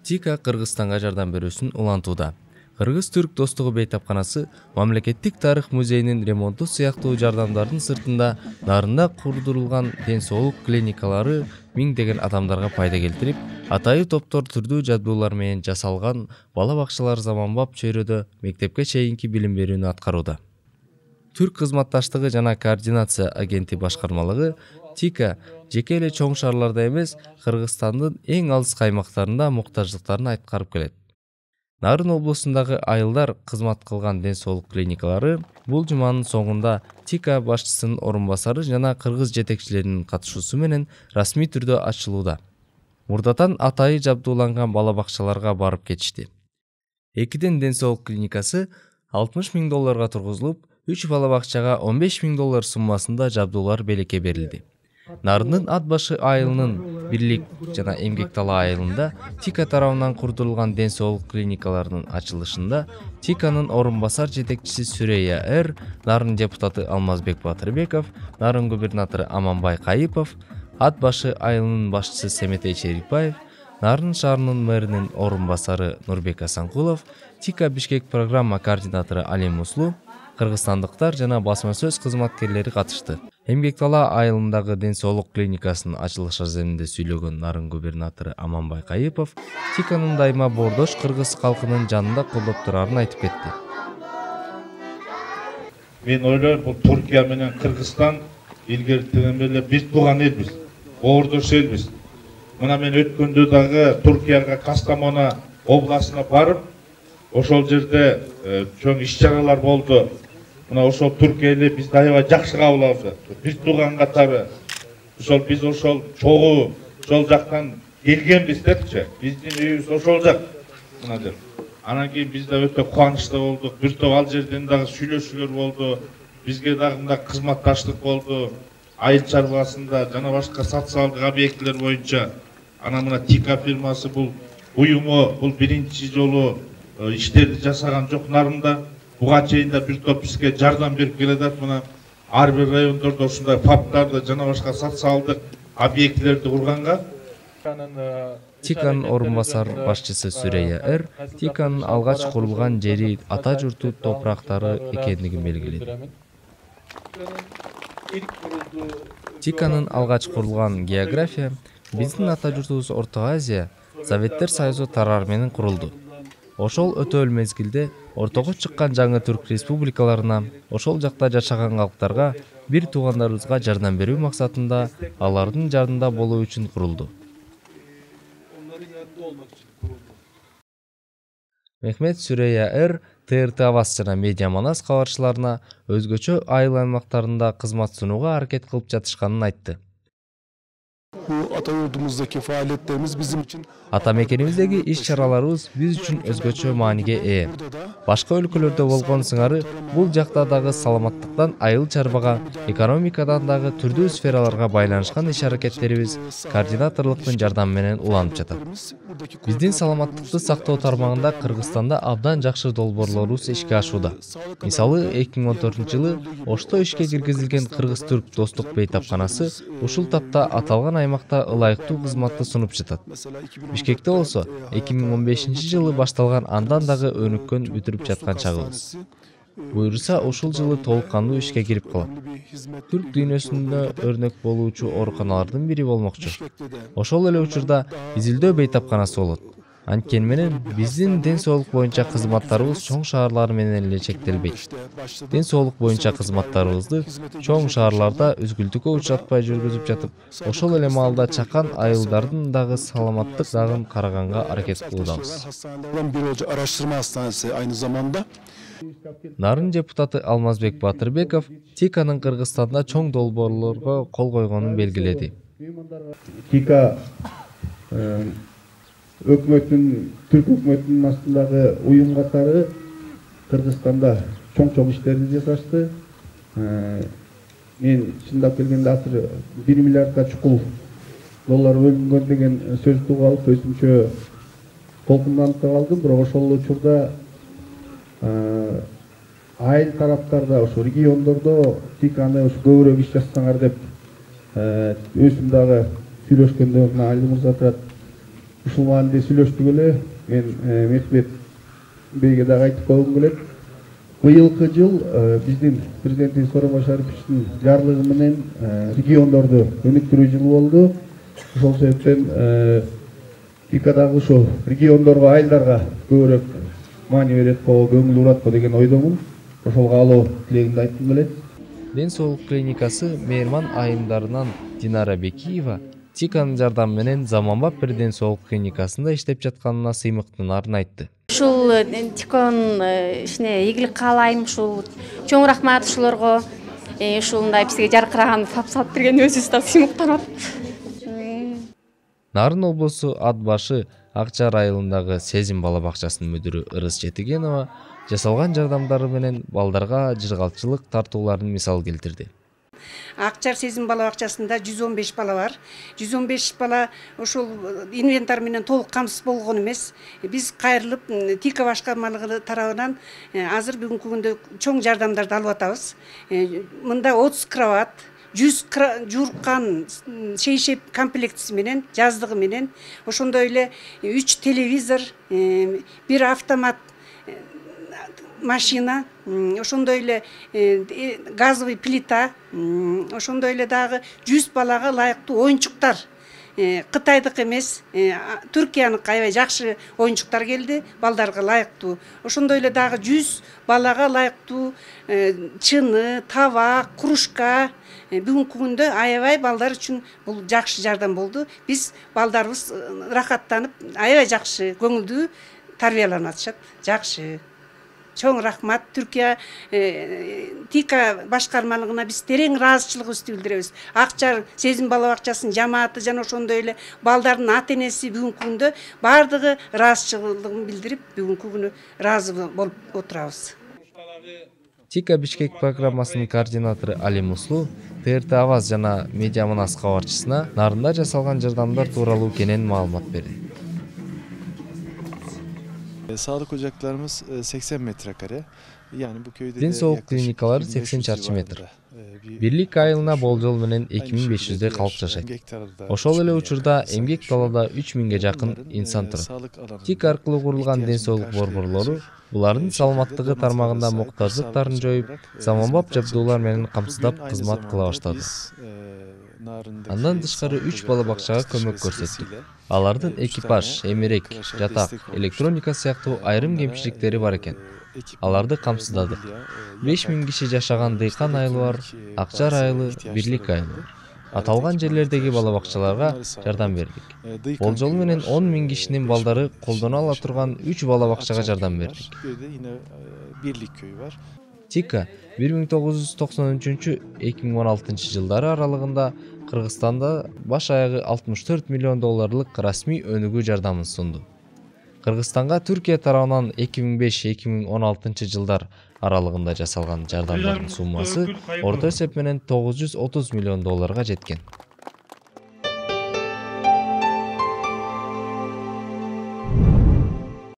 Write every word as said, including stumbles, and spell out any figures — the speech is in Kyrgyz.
ТИКА Кыргызстанга жардам берүүсүн улантууда. Кыргыз-түрк достугу бейтапканасы Мамлекеттик тарых музейинин ремонту сыяктуу жардамдардын сыртында нарында курдурулган ден соолук клиникалары миңдеген адамдарга пайда келтирип, атайы топтор түрдүү жабдуулар менен жасалган бала бакчалар заманбап чөйрөдө мектепке чейинки билим берүүнү аткарууда. Түрк кызматташтыгы жана координация агенти башкармалыгы ТИКА жеке эле чоң шаарларда эмес, Кыргызстандын эң алыс аймактарында муктаждыктарын айткарып келет. Нарын облусундагы айылдар кызмат кылган ден соолук клиникалары бул жуманын соңунда ТИКА башчысынын орун басары жана кыргыз жетекчилеринин катышуусу менен расмий түрдө ачылууда. Мурдатан атайы жабдууланган бала бакчаларга барып кетишти. Экиден ден соолук клиникасы алтымыш миң долларга тургузулуп, үч бала бакчага он беш миң доллар суммасында жабдуулар белекке берилди. Нарындын ат башы айылынын Бирлик жана Эмгек дала айылында ТИКА тарабынан курдурулган ден соолук клиникаларынын ачылышында ТИКАнын орун басар жетекчиси Сүрөйя Эр, Нарын депутаты Алмазбек Батырбеков, Нарын губернатору Аманбай Кайыпов, ат башы айылынын башчысы Семетей Черикбаев, Нарын шаарынын мэринин орун басары Нурбек Асанкулов, ТИКА Бишкек программа координатору Али Муслу, кыргызстандыктар жана басма сөз кызматкерлери катышты. Эмгек дала айылындагы ден соолук клиникасынын ачылыш аземинде сүйлөгөн Нарын губернатору Аманбай Кайыпов ТИКАнын дайыма боордош кыргыз калкынын жанында колдоп турарын айтып кетти. Мен ойлойм, бул Түркия менен Кыргызстан илгертен эле биз тууган элбиз, боордош элбиз. Мына мен өткөндө дагы Түркияга Кастамона областына барып, ошол жерде чоң иш-чаралар болду. Мына ошол Түркия эле бизди аябай жакшы кабыл алды. Биз тууган катары. Ошол биз ошол чогуу ошол жактан келгенбиз депчи. Биздин үйүбүз ошол жак. Мына деп. Анан кийин биз да өтө кубанычта болдук. Бир топ ал жерден дагы сүйлөшүүлөр болду. Бизге дагы мындай кызматташтык болду. Айыл чарбасында жана башка социалдык объектилер боюнча. Анан мына ТИКА фирмасы бул уюму бул биринчи жолу иштерди жасаган жок нарында. Буга чейин да бир топ бизге жардам берип келатат. Мына ар бир райондордо ушундай фаптарды жана башка социалдык объектилерди курганга ТИКАнын орун басар башчысы Сүрөйя Эр ТИКАнын алгач курулган жери ата журту топурактары экендигин белгиледи. ТИКАнын алгач курулган география биздин ата журтубуз Орто Азия Советтер Союзу тарары менен курулду. Ошол өтө мезгилде ортого чыккан жаңы түрк республикаларына, ошол жакта жашаган калктарга, бир туугандарыбызга жардам берүү максатында алардын жардымда болуу үчүн курулду. Мехмет Сүрөйя Эр ТРТ Аваз жана Медиа Манас кабарчыларына өзгөчө айыл аймактарында кызмат сунууга аракет кылып жатышканын айтты. Ата йуртумуздагы фаалияттерибиз биздин үчүн ата мекенибиздеги иш-чараларыбыз биз үчүн өзгөчө мааниге ээ. Башка өлкөлөрдө болгон сыңары бул жакта дагы саламаттыктан айыл чарбага, экономикадан дагы түрдүү сфераларга байланышкан иш-аракеттерибиз координаторлуктун жардамы менен уланып жатат. Биздин саламаттыкты сактоо тармагында Кыргызстанда абдан жакшы долбоорлорубуз ишке ашууда. Мисалы, эки миң он төртүнчү жылы Ошто ишке киргизилген Кыргыз-түрк достук бейтапканасы ушул тапта аталган аймакта ылайыктуу кызматты сунуп жатат. Бишкекте болсо эки миң он бешинчи жылы башталган андан дагы өнүккөн бүтүрүп жаткан чагыбыз. Буюрса ушул жылы толук кандуу ишке кирип калат. Түрк дүйнөсүндө өрнөк болуучу ооруканалардын бири болмокчу. Ошол эле учурда Изилдөө бейтапканасы болот. Анткени менен биздин ден соолук боюнча кызматтарыбыз чоң шаарлар менен эле чектелбейт. Ден соолук боюнча кызматтарыбызды чоң шаарларда үзгүлтүккө учуратпай жүргүзүп жатып, ошол эле маалда чакан айылдардын дагы саламаттык дагын караганга аракет кылуудабыз. Araştırma hastanesi aynı zamanda. Нарын депутаты Алмазбек Батырбеков ТИКАнын Кыргызстанда чоң долбоорлорго кол койгонун белгиледи. ТИКА өкмөттүн, түрк өкмөтүнүн астындагы уюм катары Кыргызстанда чоң-чоң иштерди жасашты. Мен чындап келгенде азыр бир миллиардга чукул доллар бөлүнгөн деген сөздү угуп алып өзүмчө толкунданып калдым. Бирок ошол учурда айыл тараптарда, ошо региондордо ТИКАны көбүрөөк иш жасасаңар деп өзүм дагы сүйлөшкөндө Али мырза турат. ушул маанилде сүйлөштүк эле. Мен Мехмет бейге дагы айтып койгум келет. Быйылкы жыл биздин президентибиз Сооронбай Шариповичтин жарлыгы менен региондорду өнүктүрүү жылы болду. Ошол себептен ТИКа дагы ошол региондорго, айылдарга көбүрөөк маани берет го, көңүл бурат го деген ойдомун. Ошол каалоо тилегимди айткым келет. Ден соолук клиникасы мейман айымдарынан Динара Бекиева ТИКанын жардамы менен заманбап бир ден соолук клиникасында иштеп жатканына сыймыктанарын айтты. Ушул ТИКанын ишине ийгилик каалайм. Ушул чоң рахмат ушуларга. Ушундай бизге жаркыраган тап салып берген өзүбүз да сыймыктанат. Нарын облусу Ат башы Акчар айылындагы Сезим бала бакчасынын мүдүрү Ырыс Жетигенова жасалган жардамдары менен балдарга жыргалчылык тартууларын мисал келтирди. Акчар Сезим бала бакчасында жүз он беш бала бар. жүз он беш бала ошол инвентарь менен толук камсыз болгон эмес. Биз кайрылып ТИКа башкармалыгы тарабынан азыр бүгүнкү күндө чоң жардамдарды алып атабыз. Мында отуз кровать, жүз жууркан шейшеп комплектиси менен, жаздыгы менен, ошондой эле үч телевизор, бир автомат машина, ошондой эле газовый плита, ошондой эле дагы жүз балага ылайыктуу оюнчуктар. Кытайдык эмес, Түркияныкы аябай жакшы оюнчуктар келди, балдарга ылайыктуу. Ошондой эле дагы жүз балага ылайыктуу чыны, табак, кружка. Бүгүнкү күндө аябай балдар үчүн бул жакшы жардам болду. Биз балдарыбыз рахаттанып, аябай жакшы, көңүлдүү тарбияланып атышат. Жакшы. Чоң рахмат Түркия ТИКа башкармалыгына биз терең ыраазычылыгыбызды билдиребиз. Акчар Сезим бала бакчасынын жамааты жана ошондой эле балдардын ата-энеси бүгүнкү күндө бардыгы ыраазычылыгын билдирип, бүгүнкү күнү ыраазы болуп отурабыз. ТИКа Бишкек программасынын координатору Али Муслу ТРТ Аваз жана Медиа Манас кабарчысына Нарында жасалган жардамдар тууралуу кенен маалымат берди. Sağlık ocaklarımız seksen metrekare. Yani bu köyde Ден соолук клиникалары сексен чарчы метр. Бирлик айылына болжол менен эки миң беш жүздөй калк жашайт. Ошол эле учурда эмгек талаада үч миңге жакын инсан турат. ТИК аркылуу курулган ден соолук борборлору булардын саламаттыгы тармагында муктаждыктарын жоюп, заманбап жабдуулар менен камсыздап кызмат кыла баштады. Андан тышкары үч бала бакчага көмөк көрсөттүк. Алардын экипаж, эмерек, жатак, электроника сыяктуу айрым кемчиликтери бар экен. Аларды камсыздадык. беш миң киши жашаган Дыйкан айылы бар, Акчар айылы, Бирлик айылы. Аталган жерлердеги бала бакчаларга жардам бердик. Болжол менен он миң кишинин балдары колдоно ала турган үч бала бакчага жардам бердик. ТИКа бир миң тогуз жүз токсон үчүнчү — эки миң он алтынчы жылдары аралыгында Кыргызстанда баш аягы алтымыш төрт миллион долларлык расмий өнүгүү жардамын сунду. Кыргызстанга Түркия тарабынан эки миң беш — эки миң он алтынчы жылдар аралыгында жасалган жардамдардын суммасы орто эсеп менен тогуз жүз отуз миллион долларга жеткен.